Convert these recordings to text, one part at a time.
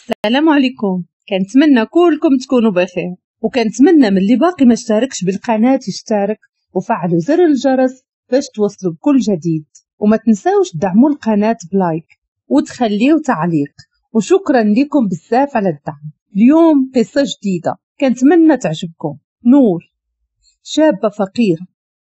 السلام عليكم. كنتمنى كلكم تكونوا بخير، وكنتمنى من اللي باقي ما اشتركش بالقناة يشترك وفعلوا زر الجرس باش توصلوا بكل جديد، وما تنساوش تدعموا القناة ب like وتخليو تعليق، وشكرا لكم بزاف على الدعم. اليوم قصة جديدة كنتمنى تعجبكم. نور، شابة فقيرة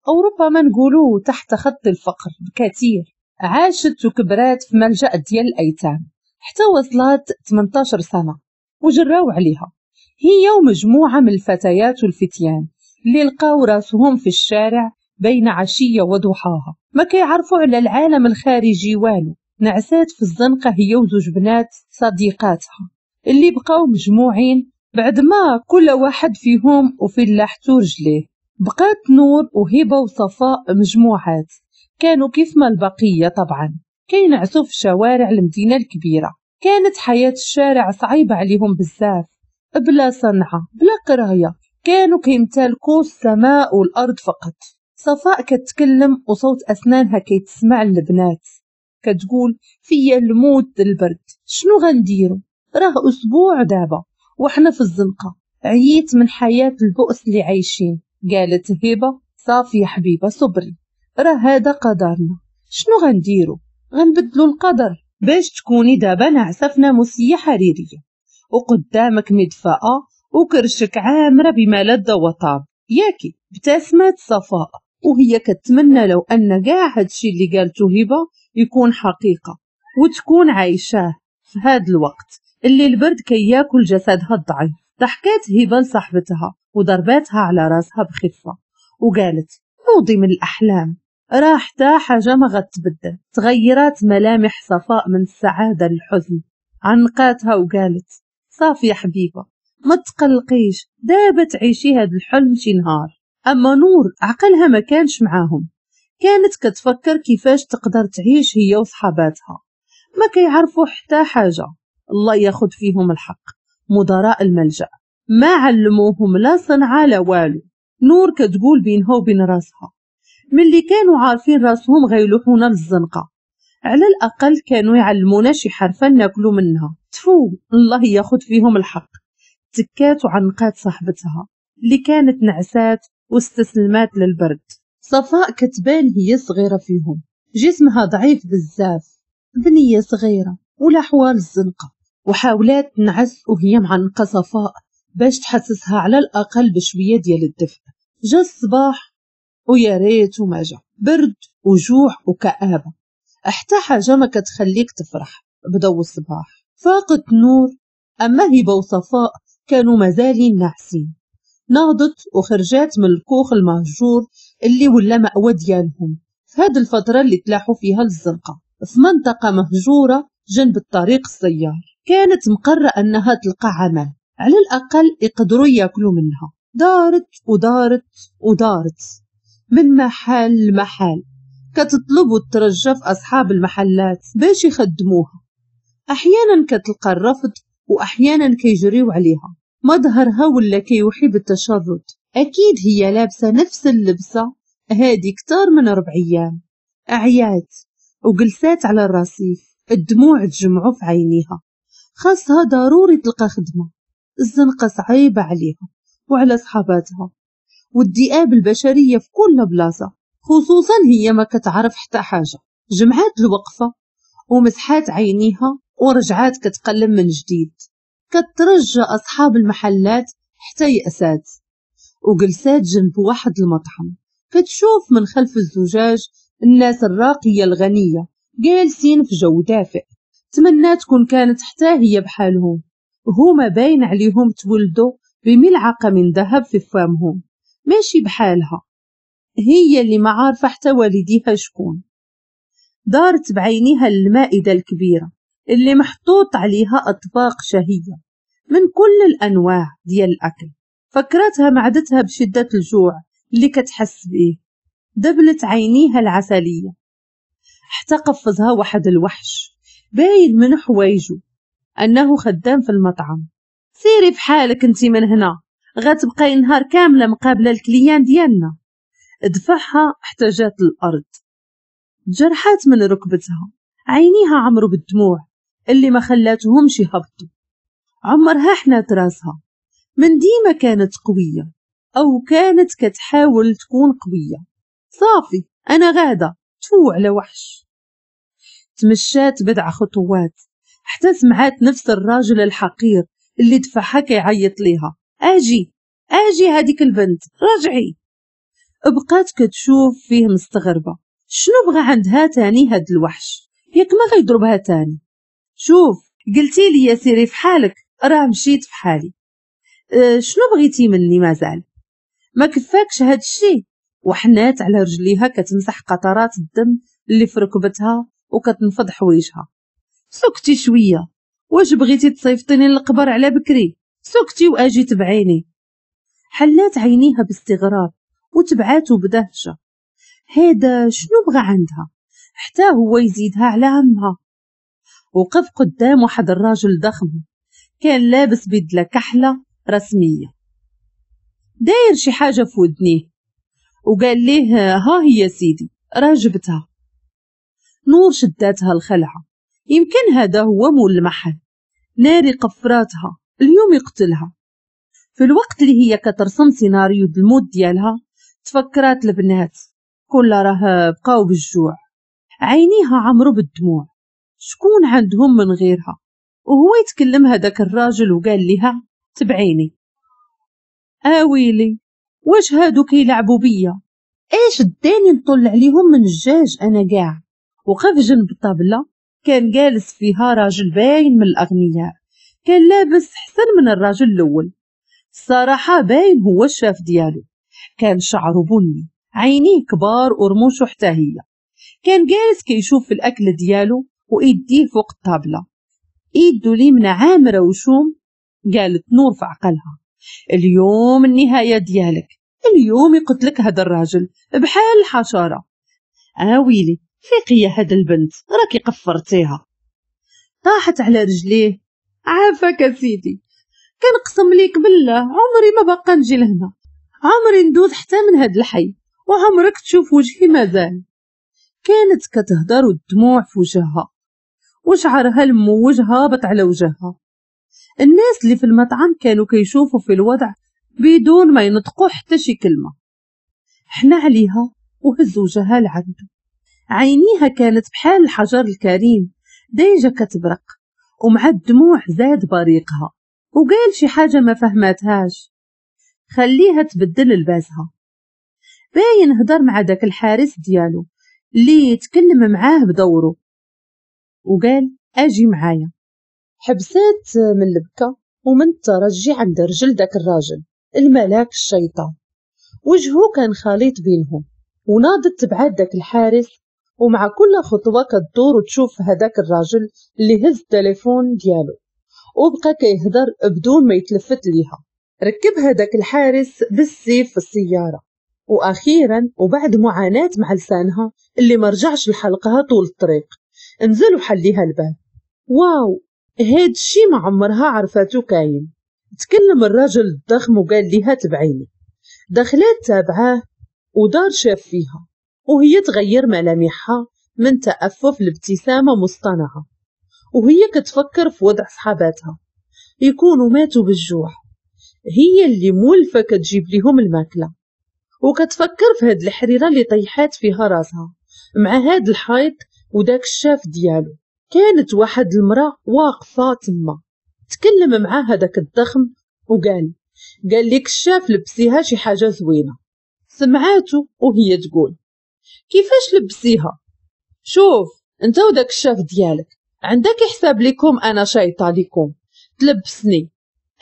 أو ربما نقولوا تحت خط الفقر بكثير، عاشت وكبرات في ملجأ ديال الأيتام حتى وصلت 18 سنة وجراو عليها هي ومجموعة من الفتيات والفتيان اللي لقاو راسهم في الشارع بين عشية وضحاها، ما كيعرفوا على العالم الخارجي والو. نعسات في الزنقة هي وزوج بنات صديقاتها اللي بقاو مجموعين بعد ما كل واحد فيهم وفي لاحتو رجليه. بقات نور وهبة وصفاء مجموعات، كانوا كيف ما البقية طبعا كينعسوا في شوارع المدينة الكبيرة. كانت حياة الشارع صعيبة عليهم بزاف، بلا صنعة بلا قراية، كانوا كيمتلكوا السماء والأرض فقط. صفاء كتكلم وصوت أسنانها كيتسمع للبنات، كتقول فيا الموت البرد، شنو غنديرو؟ راه أسبوع دابا وحنا في الزنقة، عييت من حياة البؤس اللي عايشين. قالت هبة صافي يا حبيبة صبري، راه هذا قدرنا، شنو غنديرو؟ غنبدلو القدر باش تكوني دابا ناعسة في ناموسية حريرية وقدامك مدفأة وكرشك عامرة بما لذ وطاب، ياكي؟ ابتسمت صفاء وهي كتمنى لو أن كاع هادشي اللي قالته هبة يكون حقيقة وتكون عايشاه في هاد الوقت اللي البرد كياكل جسدها الضعيف. ضحكات هبة لصاحبتها وضرباتها على راسها بخفة وقالت نوضي من الأحلام، راه حتى حاجة ما غتبدل. تغيرات ملامح صفاء من السعادة للحزن، عنقاتها وقالت صافي يا حبيبة ما تقلقيش، دابا تعيشي هاد الحلم شي نهار. أما نور عقلها ما كانش معاهم، كانت كتفكر كيفاش تقدر تعيش هي وصحاباتها، ما كيعرفوا حتى حاجة، الله ياخد فيهم الحق. مدراء الملجأ ما علموهم لا صنعة لا والو. نور كتقول بينها وبين راسها ملي كانوا عارفين راسهم غيلوحونا للزنقة، على الأقل كانوا يعلمونا شي حرفة ناكلو منها، تفو الله ياخد فيهم الحق. تكات وعنقات صاحبتها اللي كانت نعسات واستسلمات للبرد. صفاء كتبان هي صغيرة فيهم، جسمها ضعيف بزاف، بنية صغيرة ولا حوال الزنقة، وحاولات تنعس وهي معنقة صفاء باش تحسسها على الأقل بشوية ديال الدفء. جا الصباح ويا ريت وما جا، برد وجوع وكآبة، حتى حاجة ما كتخليك تفرح. بدو الصباح فاقت نور، أما هبة وصفاء كانوا مازالين ناعسين. ناضت وخرجات من الكوخ المهجور اللي ولا مأوى ديالهم في هاد الفترة اللي تلاحوا فيها للزنقة، في منطقة مهجورة جنب الطريق السيار. كانت مقرة أنها تلقى عمل على الأقل يقدروا ياكلوا منها. دارت ودارت ودارت من محل لمحل، كتطلب وترجى في أصحاب المحلات باش يخدموها. أحيانا كتلقى الرفض وأحيانا كيجريو عليها. مظهرها ولا كيوحي بالتشرد، أكيد هي لابسة نفس اللبسة هادي كتار من 4 أيام. عيات وجلسات على الرصيف، الدموع تجمعوا في عينيها، خاصها ضروري تلقى خدمة. الزنقة صعيبة عليها وعلى صحاباتها، والذئاب البشرية في كل بلاصة، خصوصا هي ما كتعرف حتى حاجة. جمعات الوقفة ومسحات عينيها ورجعات كتقلم من جديد، كترجى أصحاب المحلات حتى يأسات. وجلسات جنب واحد المطعم، كتشوف من خلف الزجاج الناس الراقية الغنية جالسين في جو دافئ. تمنى تكون كانت حتى هي بحالهم، هما باين عليهم تولدوا بملعقة من ذهب في فمهم، ماشي بحالها هي اللي ما عارفة حتى والديها شكون. دارت بعينيها المائدة الكبيرة اللي محطوط عليها أطباق شهية من كل الأنواع ديال الأكل. فكرتها معدتها بشدة الجوع اللي كتحس بيه، دبلت عينيها العسلية حتى قفزها واحد الوحش باين من حوايجو أنه خدام في المطعم. سيري في حالك انتي من هنا، غتبقاي نهار كاملة مقابلة ال clients ديالنا. دفعها حتى جات الأرض، جرحات من ركبتها، عينيها عمرو بالدموع اللي ما خلاتهمش يهبطوا. عمرها حنات راسها، من ديما كانت قوية أو كانت كتحاول تكون قوية. صافي أنا غادة، تفو على وحش. تمشات بضع خطوات حتى سمعات نفس الراجل الحقير اللي دفعها كيعيط ليها، اجي اجي هذيك البنت رجعي. بقات كتشوف فيه مستغربة، شنو بغى عندها تاني هاد الوحش؟ ياك ما غيضربها تاني؟ شوف قلتي لي سيري في حالك، راه مشيت في حالي. شنو بغيتي مني مازال؟ ما كفاكش هاد الشي؟ وحنات على رجليها كتمسح قطرات الدم اللي في ركبتها وكتنفض حوايجها. سكتي شوية، واش بغيتي تصيفطيني للقبر على بكري؟ سكتي واجي تبعيني. حلات عينيها باستغراب وتبعاتو بدهشه. هذا شنو بغى عندها حتى هو يزيدها على عمها؟ وقف قدام واحد الراجل ضخم كان لابس بدله كحلة رسمية، داير شي حاجة في ودنيه، وقال ليه ها هي سيدي راه جبتها. نور شداتها الخلعة، يمكن هذا هو مول المحل. ناري قفراتها اليوم يقتلها. في الوقت اللي هي كترسم سيناريو الموت ديالها تفكرات البنات كل راه بقاو بالجوع، عينيها عمرو بالدموع، شكون عندهم من غيرها؟ وهو يتكلم هذاك الراجل وقال لها تبعيني. اويلي واش هادو كيلعبوا بيا؟ ايش داني نطل عليهم من الجاج انا كاع؟ وقف جنب الطابله كان جالس فيها راجل باين من الاغنياء، كان لابس حسن من الراجل الاول، الصراحة باين هو الشاف ديالو. كان شعره بني، عينيه كبار ورموشه حتى هي. كان جالس كيشوف في الاكل ديالو وايديه فوق الطابله، ايدو اليمنى عامرة وشوم. قالت نور في عقلها اليوم النهاية ديالك، اليوم يقتلك هذا الراجل بحال الحشرة. اويلي فيقي يا هاد البنت راكي قفرتيها. طاحت على رجليه، عافاك سيدي، كنقسم ليك بالله عمري ما بقى نجي لهنا، عمري ندوز حتى من هاد الحي، وعمرك تشوف وجهي مازال. كانت كتهدر والدموع في وجهها وشعرها الموج هابط على وجهها. الناس اللي في المطعم كانوا كيشوفوا في الوضع بدون ما ينطقوا حتى شي كلمة. حنا عليها وهز وجهها لعنده، عينيها كانت بحال الحجر الكريم دايجة كتبرق، ومع الدموع زاد بريقها. وقال شي حاجة ما فهماتهاش، خليها تبدل لباسها. باين هدر مع داك الحارس ديالو اللي يتكلم معاه بدوره وقال اجي معايا. حبسات من البكا ومن الترجي عند رجل داك الراجل الملاك الشيطان، وجهه كان خليط بينهم. وناضت تبعات داك الحارس، ومع كل خطوة كتدور وتشوف هداك الراجل اللي هز التليفون ديالو وبقى كيهدر بدون ما يتلفت ليها. ركب هداك الحارس بالسيف في السيارة، وأخيرا وبعد معاناة مع لسانها اللي مرجعش لحلقها طول الطريق نزل وحليها الباب. واو هاد الشي ما عمرها عرفاتو كاين. تكلم الراجل الضخم وقال ليها تبعيني. دخلات تابعاه ودار شاف فيها وهي تغير ملامحها من تأفف لابتسامة مصطنعة، وهي كتفكر في وضع صحاباتها يكونوا ماتوا بالجوع، هي اللي مولفة كتجيب ليهم الماكلة. وكتفكر في هاد الحريرة اللي طيحات فيها راسها مع هاد الحيط وداك الشاف ديالو. كانت واحد المرأة واقفة تما، تكلم مع هداك الضخم وقال قال لك الشاف لبسيها شي حاجة زوينة. سمعاتو وهي تقول كيفاش لبسيها؟ شوف انت وداك الشاف ديالك عندك حساب لكم انا شايطه لكم تلبسني،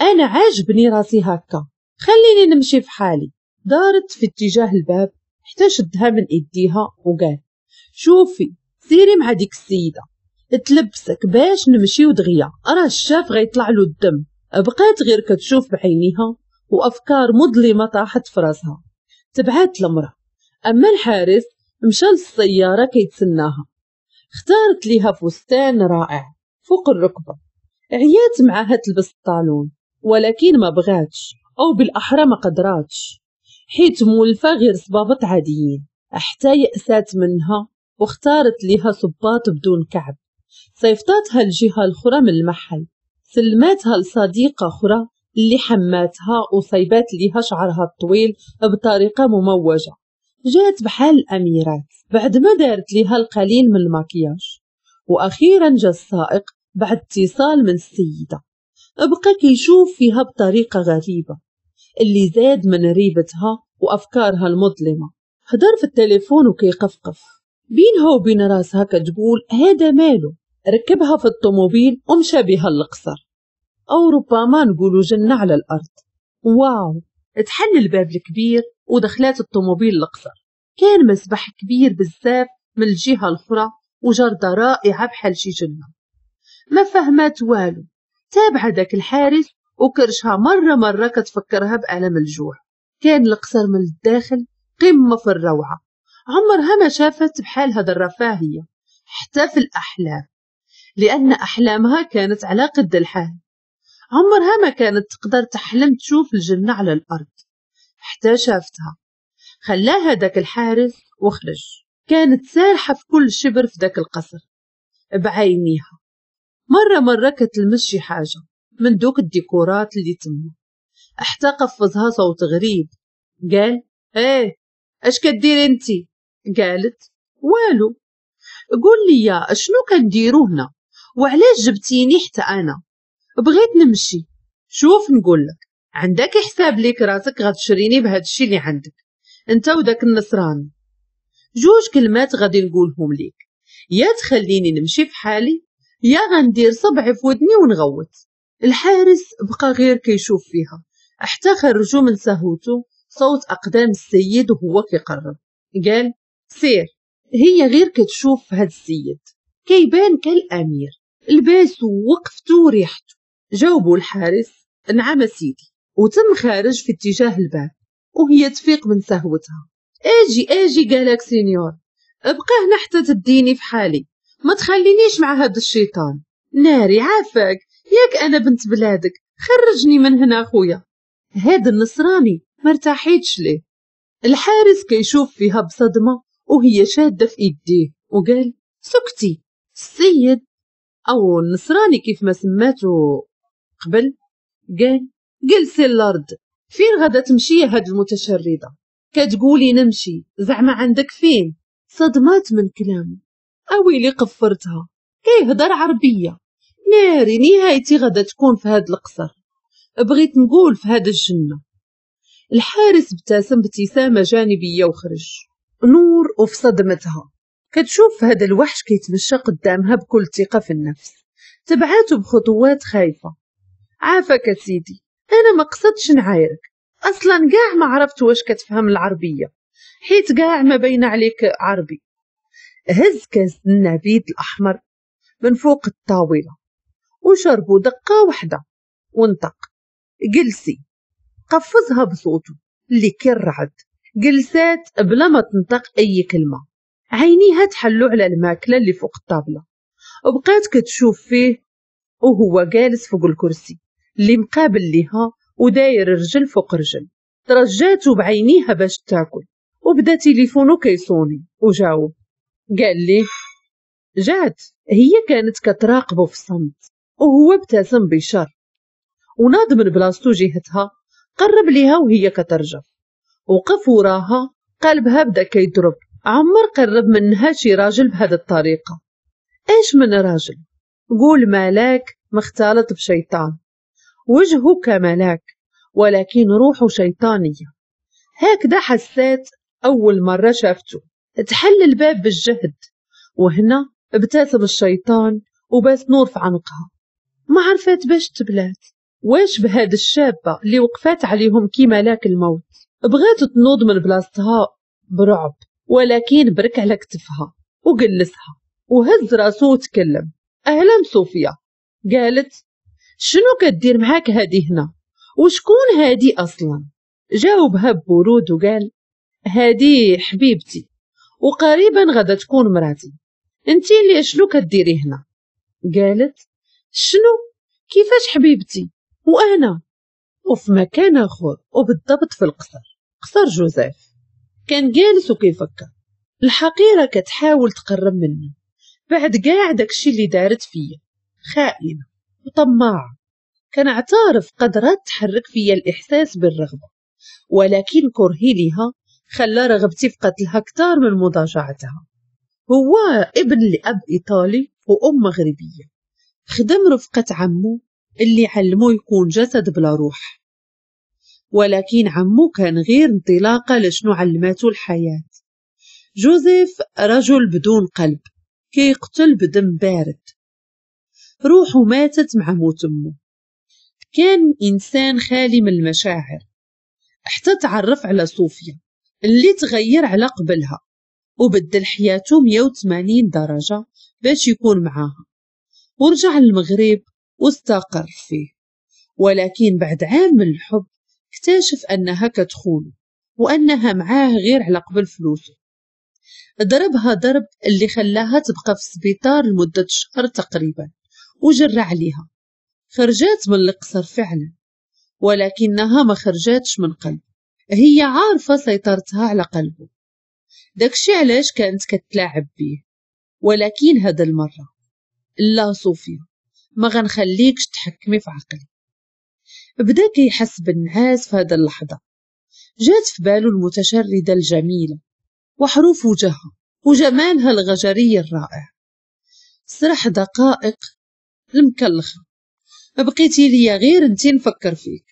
انا عاجبني راسي هكا، خليني نمشي في حالي. دارت في اتجاه الباب حتى شدها من ايديها وقال شوفي سيري مع ديك السيدة تلبسك باش نمشيو دغيا، راه الشاف غيطلع له الدم. بقات غير كتشوف بعينيها وافكار مظلمة طاحت في راسها. تبعات المراة. اما الحارس مشى للسيارة كيتسناها، اختارت ليها فستان رائع فوق الركبة، عيات معاها تلبس الطالون ولكن ما بغاتش، او بالاحرى ما قدراتش حيت مولفه غير صبابط عاديين. حتى يأسات منها واختارت ليها صباط بدون كعب. صيفطاتها الجهة الاخرى من المحل. سلماتها لصديقة أخرى اللي حماتها وصيبات ليها شعرها الطويل بطريقة مموجة، جات بحال الأميرات بعد ما دارت ليها القليل من المكياج. وأخيرا جا السائق بعد اتصال من السيدة، بقى كيشوف فيها بطريقة غريبة اللي زاد من ريبتها وأفكارها المظلمة. هدر في التليفون وكيقفقف بينها وبين راسها كتقول هذا ماله. ركبها في الطوموبيل ومشى بها للقصر، أو ربما نقولوا جنة على الأرض. واو، تحل الباب الكبير ودخلات الطوموبيل للقصر. كان مسبح كبير بزاف من الجهة الأخرى وجردة رائعة بحال شي جنة. ما فهمات والو، تابع داك الحارس وكرشها مرة مرة كتفكرها بألم الجوع. كان القصر من الداخل قمة في الروعة، عمرها ما شافت بحال هذا الرفاهية حتى في الأحلام، لأن أحلامها كانت على قد الحال. عمرها ما كانت تقدر تحلم تشوف الجنة على الأرض حتى شافتها. خلاها داك الحارس وخرج. كانت سارحة في كل شبر في داك القصر بعينيها، مرة مرة كتلمس شي حاجة من دوك الديكورات اللي تما، حتى قفزها صوت غريب قال ايه اش كديري انتي؟ قالت والو. قول لي شنو كنديرو هنا وعلاش جبتيني حتى انا؟ بغيت نمشي. شوف نقول لك، عندك حساب ليك راسك غتشريني بهذا الشيء اللي عندك انت وداك النصراني. جوج كلمات غادي نقولهم ليك، يا تخليني نمشي في حالي يا غندير صبعي في ودني ونغوت. الحارس بقى غير كيشوف فيها حتى خرجوا من سهوته صوت اقدام السيد وهو كيقرب. قال سير. هي غير كتشوف هاد السيد كيبان كالامير، لباسو ووقفتو وريحته. جاوبوا الحارس نعم سيدي، وتم خارج في اتجاه الباب. وهي تفيق من سهوتها. اجي اجي قالك سينيور، ابقى هنا حتى تديني في حالي، ما تخلينيش مع هاد الشيطان. ناري عافاك، ياك انا بنت بلادك، خرجني من هنا خويا. هاد النصراني ما ارتاحيتش ليه. الحارس كيشوف فيها بصدمة وهي شادة في ايديه وقال سكتي. السيد او النصراني كيف ما سماتو قبل قال جلسي الارض، فين غادا تمشي هاد المتشردة؟ كتقولي نمشي، زعما عندك فين؟ صدمات من كلامه. اويلي قفرتها، كيهضر عربية. ناري نهايتي غادا تكون في هاد القصر، بغيت نقول في هاد الجنة. الحارس ابتسم ابتسامة جانبية وخرج. نور وفي صدمتها كتشوف هذا الوحش كيتمشى قدامها بكل ثقة في النفس. تبعاته بخطوات خايفة. عافاك سيدي، أنا ما قصدتش نعايرك، أصلا كاع ما عرفت واش كتفهم العربية، حيت كاع ما بين عليك عربي. هز كاس النبيذ الأحمر من فوق الطاولة وشربوا دقة واحدة وانطق جلسي. قفزها بصوته اللي كيرعد. جلسات بلا ما تنطق أي كلمة، عينيها تحلو على الماكلة اللي فوق الطابلة، وبقات كتشوف فيه وهو جالس فوق الكرسي اللي مقابل ليها وداير رجل فوق رجل. ترجاتو بعينيها باش تاكل، وبدا تليفونو كيصوني وجاوب. قال ليه جات. هي كانت كتراقبه في الصمت وهو ابتسم بشر وناض من بلاصتو جهتها، قرب ليها وهي كترجف، وقف وراها. قلبها بدا كيضرب. عمر قرب منها شي راجل بهذه الطريقة. ايش من راجل؟ قول ملاك مختلط بشيطان، وجهه كملاك ولكن روحه شيطانية. هكذا حسات أول مرة شافته. تحل الباب بالجهد، وهنا ابتسم الشيطان وباس نور في عنقها. ما عرفت باش تبلات، واش بهاد الشابة اللي وقفات عليهم كي ملاك الموت. بغات تنوض من بلاصتها برعب، ولكن برك على كتفها وجلسها وهز راسو وتكلم. أهلا صوفيا. قالت شنو كدير معاك هادي هنا؟ وشكون هادي أصلا؟ جاوبها ببرود وقال هادي حبيبتي وقريبا غادا تكون مراتي، انتي اللي شنو كديري هنا؟ قالت شنو؟ كيفاش حبيبتي وانا؟ وفي مكان اخر وبالضبط في القصر، قصر جوزيف، كان جالس وكيفكر. الحقيرة كتحاول تقرب منه بعد كاع داكشي اللي دارت فيا، خائنة وطماعة. كنعترف قدرات تحرك فيا الإحساس بالرغبة، ولكن كرهي ليها خلى رغبتي في قتلها أكثر من مضاجعتها. هو ابن لأب إيطالي وأم مغربية، خدم رفقة عمو اللي علمو يكون جسد بلا روح، ولكن عمو كان غير انطلاقة لشنو علمته الحياة. جوزيف رجل بدون قلب، كيقتل بدم بارد، روحه ماتت مع موت أمه. كان إنسان خالي من المشاعر حتى تعرف على صوفيا اللي تغير على قبلها وبدل حياته 180 درجة باش يكون معاها، ورجع للمغرب واستقر فيه. ولكن بعد عام من الحب اكتشف أنها كتخونه وأنها معاه غير على قبل فلوسه. ضربها ضرب اللي خلاها تبقى في السبيطار لمدة شهر تقريبا وجرى عليها. خرجات من القصر فعلا، ولكنها ما خرجاتش من قلبه، هي عارفة سيطرتها على قلبه، داكشي علاش كانت كتلاعب بيه. ولكن هذا المرة لا صوفيا، ما غنخليكش تحكمي في عقلي. بدا كيحس بالنعاس في هذا اللحظة، جات في باله المتشردة الجميلة وحروف وجهها وجمالها الغجري الرائع. سرح دقائق المكلخة، بقيتي ليا غير انتي نفكر فيك.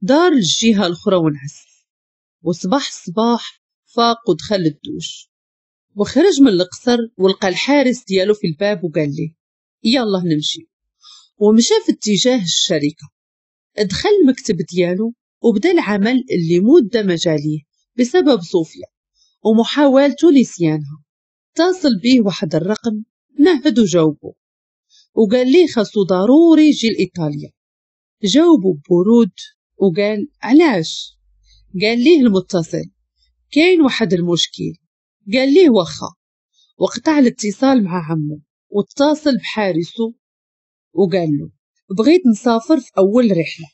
دار الجهة الأخرى ونعس، وصباح الصباح فاق ودخل الدوش وخرج من القصر ولقى الحارس ديالو في الباب وقال ليه يلا نمشي، ومشى في اتجاه الشركة. دخل المكتب ديالو وبدا العمل اللي مدة مجاليه بسبب صوفيا ومحاولته نسيانها. اتصل بيه واحد الرقم، نهد وجاوبه وقال ليه خاصو ضروري يجي لإيطاليا. جاوبه ببرود وقال علاش؟ قال ليه المتصل كاين واحد المشكل. قال ليه واخا، وقطع الاتصال مع عمه واتصل بحارسه وقال له بغيت نسافر في أول رحلة.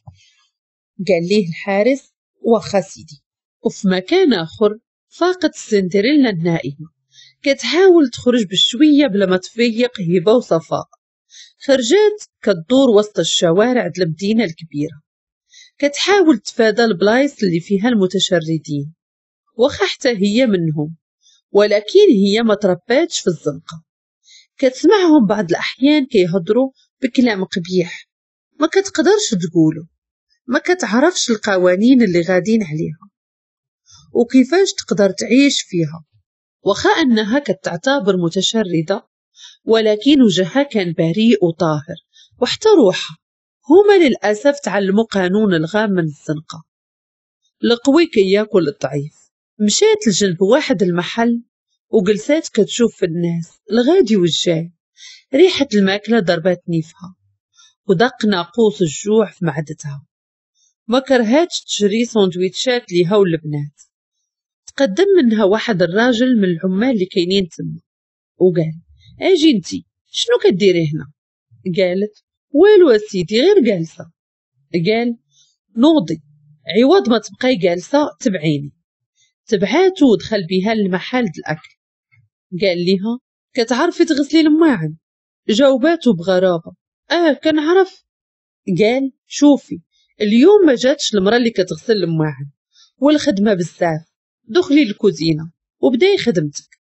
قال ليه الحارس واخا سيدي. وفي مكان آخر فاقت السندريلا النائمة كتحاول تخرج بشوية بلا ما تفيق هبة وصفاء. خرجات كتدور وسط الشوارع د المدينة الكبيرة، كتحاول تفادى البلايص اللي فيها المتشردين، واخا حتى هي منهم، ولكن هي ما ترباتش في الزنقة. كتسمعهم بعض الأحيان كيهضروا بكلام قبيح ما كتقدرش تقوله، ما كتعرفش القوانين اللي غادين عليها وكيفاش تقدر تعيش فيها. واخا أنها كتعتبر متشردة، ولكن وجهها كان بريء وطاهر وحتى روحها. هما للأسف تعلموا قانون الغام من الزنقة، القوي كياكل الضعيف. مشات لجنب واحد المحل وجلسات كتشوف في الناس الغادي والجاي. ريحة الماكلة ضربات نيفها ودق ناقوس الجوع في معدتها. ما كرهاتش تشري سندويتشات ليها والبنات. تقدم منها واحد الراجل من العمال اللي كاينين تما وقال اجي انتي شنو كديري هنا؟ قالت والو اسيدي غير جالسه. قال نوضي عوض ما تبقاي جالسه تبعيني. تبعاتو ودخل بها للمحل د الاكل. قال لها كتعرفي تغسلي الماعن؟ جاوباتو بغرابه كنعرف. قال شوفي اليوم ما جاتش المراه اللي كتغسل الماعن والخدمه بزاف، دخلي للكوزينه وبداي خدمتك.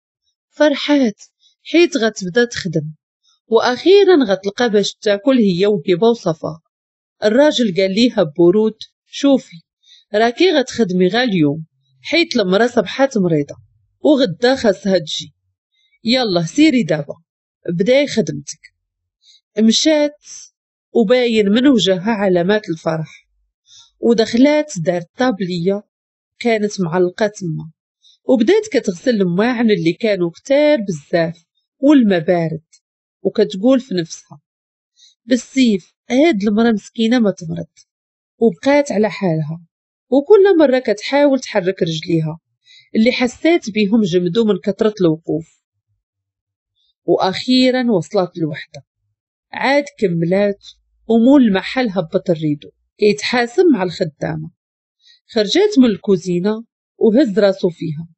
فرحات حيت غتبدا تخدم واخيرا غتلقى باش تاكل هي وهبه وصفاء. الراجل قال ليها ببرود شوفي راكي غتخدمي غا اليوم حيت المراه صبحات مريضه وغدا خاصها تجي، يلا سيري دابا بداي خدمتك. مشات وباين من وجهها علامات الفرح ودخلات دار طابليه كانت معلقه تما وبدات كتغسل الماعن اللي كانوا كتار بزاف والما بارد، وكتقول في نفسها بالسيف هاد المراه مسكينه ما تمرض. وبقات على حالها وكل مره كتحاول تحرك رجليها اللي حسات بيهم جمدوا من كثره الوقوف. واخيرا وصلت الوحده، عاد كملات ومول المحل هبط ال rideau كيتحاسب مع الخدامه. خرجت من الكوزينه وهز راسو فيها،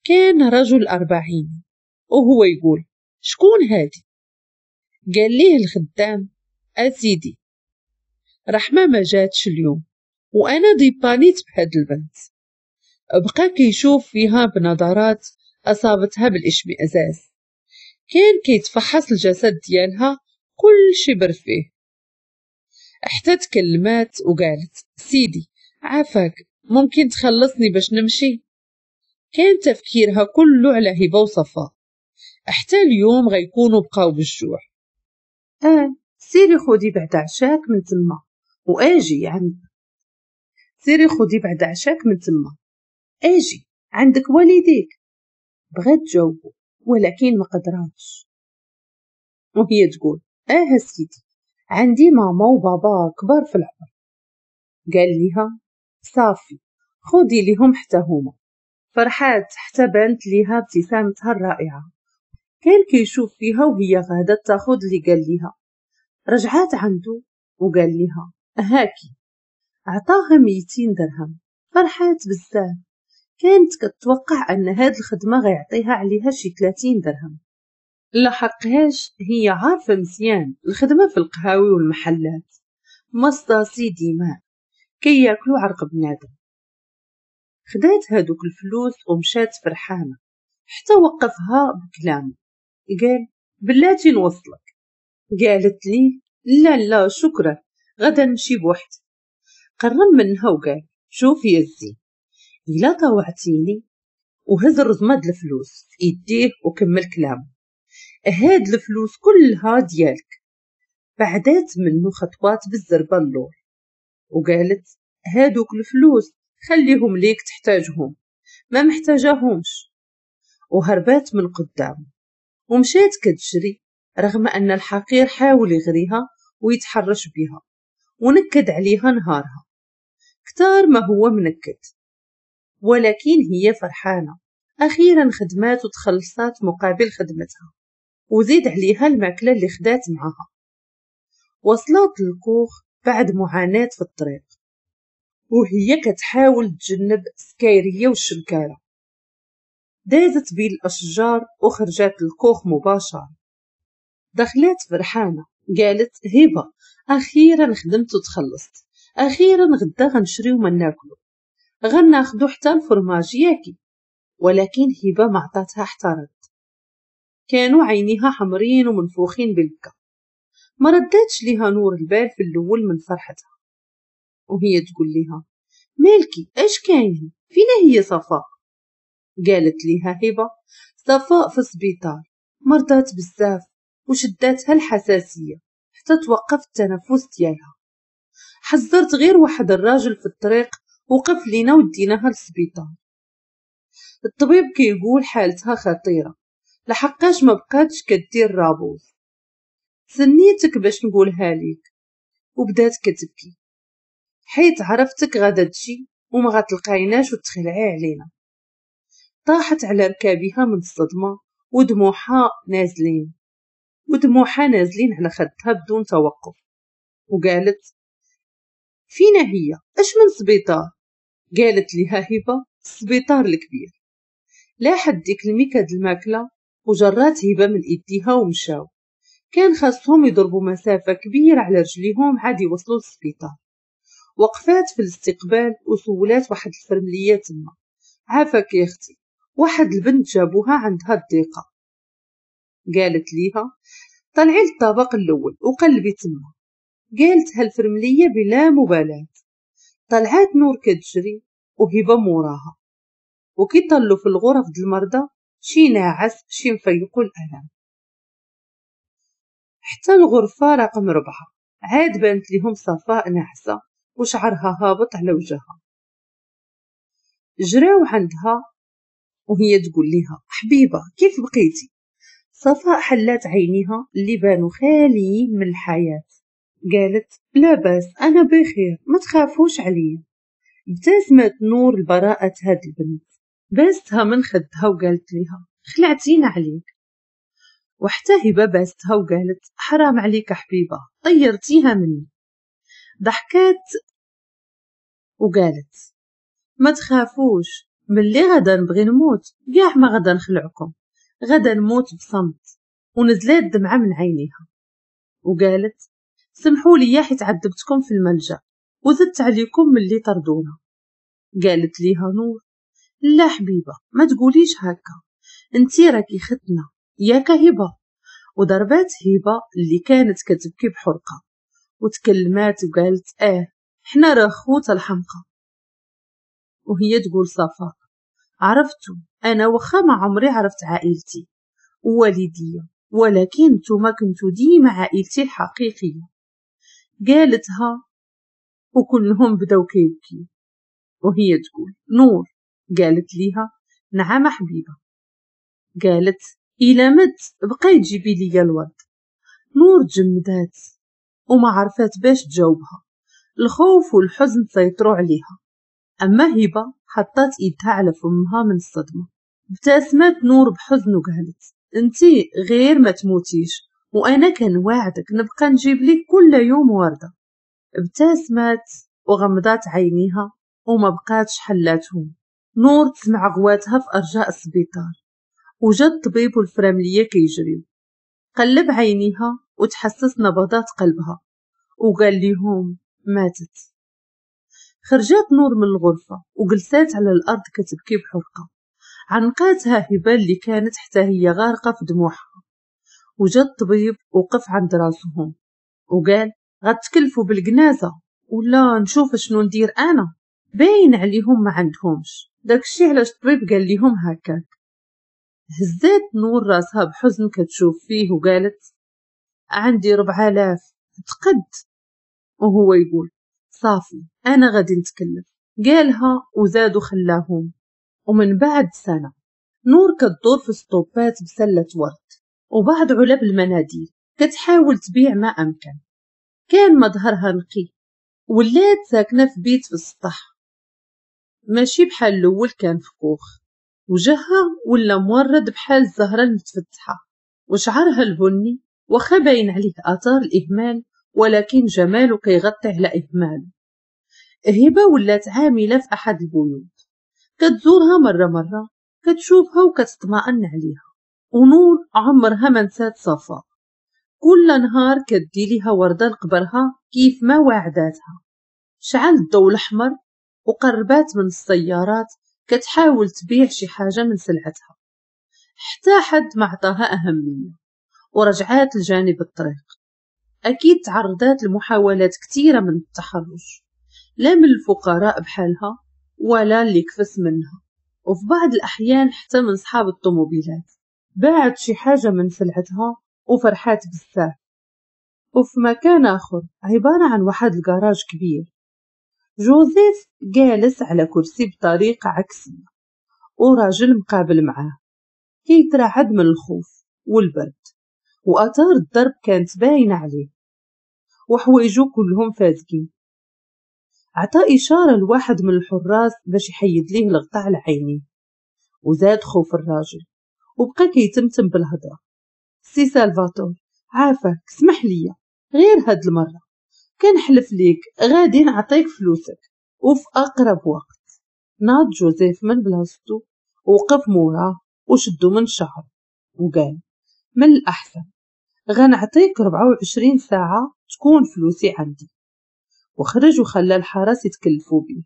كان رجل 40 وهو يقول شكون هادي؟ قال ليه الخدام اسيدي رحمة ما جاتش اليوم وأنا ديبانيت بهاد البنت. بقى كيشوف فيها بنظرات أصابتها بالإشمئزاز. كان كيتفحص الجسد ديالها كل شبر فيه. حتى تكلمات وقالت سيدي عافاك ممكن تخلصني باش نمشي؟ كان تفكيرها كله على هبة وصفاء، حتى اليوم غيكونوا بقاو بالجوع. سيري خدي بعد عشاك من تما واجي عند، سيري خدي بعد عشاك من تما اجي عندك والديك. بغات تجاوبو ولكن ما قدراتش، وهي تقول سيدي عندي ماما وبابا كبار في العمر. قال ليها صافي خدي ليهم حتى هما. فرحات حتى بانت ليها ابتسامتها الرائعة. كان كيشوف فيها وهي غادا تاخد اللي قال ليها. رجعات عنده وقال ليها هاكي، عطاها 200 درهم. فرحات بزاف، كانت كتوقع ان هاد الخدمة غيعطيها عليها شي 30 درهم. لا حقهاش، هي عارفة مزيان الخدمة في القهاوي والمحلات مصاصي دماء كياكلوا عرق بنادم. خدات هادوك الفلوس ومشات فرحانة حتى وقفها بكلامه. قال بلاتي نوصلك. قالت لي لا لا شكرا غدا نمشي بوحدي. قرب منها وقال شوفي يا الزين إلا طوعتيني، وهز الرزمة د الفلوس في ايديه وكمل كلامه، هاد الفلوس كلها ديالك. بعدات منه خطوات بالزربة اللور وقالت هادوك الفلوس خليهم ليك تحتاجهم، ما محتاجاهمش. وهربات من قدامه ومشات كتجري رغم أن الحقير حاول يغريها ويتحرش بها ونكد عليها نهارها كتار ما هو منكد، ولكن هي فرحانة أخيرا خدمات وتخلصات مقابل خدمتها، وزيد عليها الماكلة اللي خدات معها. وصلت للكوخ بعد معاناة في الطريق وهي كتحاول تجنب السكايرية والشمكارة. دازت بين الأشجار وخرجت للكوخ مباشرة. دخلت فرحانة قالت هبة أخيرا خدمت وتخلصت، أخيرا غدا غنشريو ما ناكلو، غناخدو حتى الفرماج ياكي. ولكن هبة ما عطاتها حتى رد، كانوا عينيها حمرين ومنفوخين بالبكا. ما ردتش ليها نور البال في الأول من فرحتها وهي تقول لها مالكي اش كاين، فينا هي صفاء؟ قالت ليها هبة صفاء في السبيطار، مرضات بزاف وشداتها الحساسية حتى توقف التنفس ديالها. حذرت غير واحد الراجل في الطريق وقف لينا وديناها للسبيطار. الطبيب كيقول حالتها خطيرة لحقاش ما بقاتش كدير رابوز. سنيتك باش نقولها ليك. وبدات كتبكي حيت عرفتك غادا تجي وما غتلقايناش وتخلعي علينا. طاحت على ركابها من الصدمة ودموعها نازلين على خدها بدون توقف. وقالت فينا هي اش من سبيطار؟ قالت لها هبة السبيطار الكبير. لاحت ديك الميكة د الماكلة وجرات هبة من ايديها ومشاو. كان خاصهم يضربوا مسافة كبيرة على رجليهم عاد يوصلوا للسبيطار. وقفات في الاستقبال وسولات واحد الفرملية تما عافاك يا اختي واحد البنت جابوها عندها الضيقة. قالت ليها طلعي للطابق الاول وقلبي تما. قالتها الفرملية بلا مبالاة. طلعات نور كتجري وهبة موراها، وكي طلوا في الغرف د المرضى شي ناعس شي مفيقوا الألم. حتى الغرفة رقم 4 عاد بانت لهم صفاء ناعسة وشعرها هابط على وجهها. جراو عندها وهي تقول لها حبيبة كيف بقيتي؟ صفاء حلات عينيها اللي بانوا خاليين من الحياة. قالت لا باس أنا بخير ما تخافوش عليا. ابتسمت نور لبراءة هاد البنت، باستها من خدها وقالت لها خلعتينا عليك. وحتى هبة باستها وقالت حرام عليك حبيبة طيرتيها مني. ضحكات وقالت ما تخافوش ملي غدا نبغي نموت كاع ما غدا نخلعكم، غدا نموت بصمت. ونزلات دمعة من عينيها وقالت سمحوا لي حيت عذبتكم في الملجأ وزدت عليكم ملي طردونا. قالت ليها نور لا حبيبه ما تقوليش هكا، انتي راكي ختنا ياك هبه. وضربات هبه اللي كانت كتبكي بحرقه وتكلمات وقالت حنا راه خوت الحمقى. وهي تقول صفاء عرفتو انا واخا ما عمري عرفت عائلتي ووالديا، ولكن نتوما كنتو ديما عائلتي الحقيقية. قالتها وكلهم بداو كيبكيو. وهي تقول نور. قالت ليها نعم حبيبه. قالت إلا مت بقاي تجيبي ليا الورد. نور تجمدات وما عرفات باش تجاوبها، الخوف والحزن سيطروا عليها. أما هبة حطت إيدها على فمها من الصدمة. ابتسمت نور بحزن وقالت انتي غير ما تموتيش، وأنا كنواعدك نبقى نجيب لك كل يوم وردة. ابتسمت وغمضات عينيها وما بقاتش حلاتهم. نور تسمع غواتها في أرجاء السبيطار، وجا الطبيب والفراملية كيجريو. قلب عينيها وتحسس نبضات قلبها وقال لهم ماتت. خرجت نور من الغرفة وجلسات على الأرض كتبكي بحرقة. عنقاتها هبة اللي كانت حتى هي غارقة في دموعها. وجا الطبيب وقف عند راسهم وقال غتكلفوا بالجنازة ولا نشوف شنو ندير أنا؟ باين عليهم ما عندهمش داكشي علاش الطبيب قال لهم هكاك. هزات نور راسها بحزن كتشوف فيه وقالت عندي 4000 تقد. وهو يقول صافي انا غادي نتكلف. قالها وزادوا خلاهم. ومن بعد سنة نور كتدور في سطوبات بسلة ورد وبعض علب المناديل كتحاول تبيع ما امكن. كان مظهرها نقي، ولات ساكنة في بيت في السطح ماشي بحال الاول كان في كوخ. وجهها ولا مورد بحال الزهرة المتفتحة، وشعرها البني واخا باين عليه آثار الإهمال ولكن جماله كيغطي على إهماله. هبة ولات عاملة في أحد البيوت، كتزورها مرة مرة، كتشوفها وكتطمئن عليها. ونور عمرها ما نسات صفاء، كل نهار كدي ليها وردة لقبرها كيف ما وعداتها. شعل الضوء الأحمر وقربات من السيارات كتحاول تبيع شي حاجة من سلعتها، حتى حد ما عطاها أهمية. ورجعات لجانب الطريق. أكيد تعرضات لمحاولات كثيرة من التحرش، لا من الفقراء بحالها ولا اللي كفس منها، وفي بعض الأحيان حتى من صحاب الطوموبيلات. باعت شي حاجة من سلعتها وفرحات بزاف. وفي مكان آخر عبارة عن واحد الجراج كبير، جوزيف جالس على كرسي بطريقة عكسية وراجل مقابل معاه كيترعد من الخوف والبرد، وآثار الضرب كانت باينة عليه وحوايجو كلهم فازقين. عطى إشارة لواحد من الحراس باش يحيد ليه الغطاء على عينيه، وزاد خوف الراجل وبقى كيتمتم بالهضرة. سي سالفاتور عافاك اسمح ليا غير هاد المرة، كنحلف ليك غادي نعطيك فلوسك وفي أقرب وقت. ناض جوزيف من بلاصتو وقف موراه وشدو من شعره وقال من الأحسن غنعطيك 24 ساعة تكون فلوسي عندي. وخرج وخلى الحرس يتكلفوا بيه.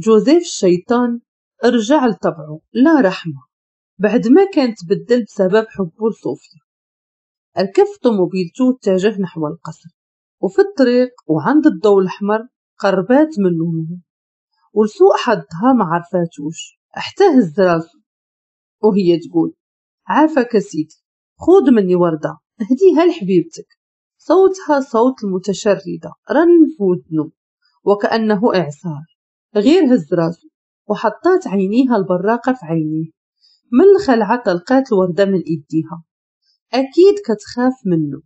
جوزيف الشيطان رجع لطبعه لا رحمة بعد ما كان تبدل بسبب حبه لصوفيا. ركب طوموبيلته واتجه نحو القصر، وفي الطريق وعند الضوء الأحمر قربات منه نور، ولسوء حظها ما عرفاتوش حتى هز راسو وهي تقول عافاك سيدي خذ مني وردة هديها لحبيبتك. صوتها صوت المتشردة رن في ودنه وكأنه إعصار. غير هز راسو وحطات عينيها البراقة في عينيه، من الخلعة طلقات الوردة من إيديها، أكيد كتخاف منه.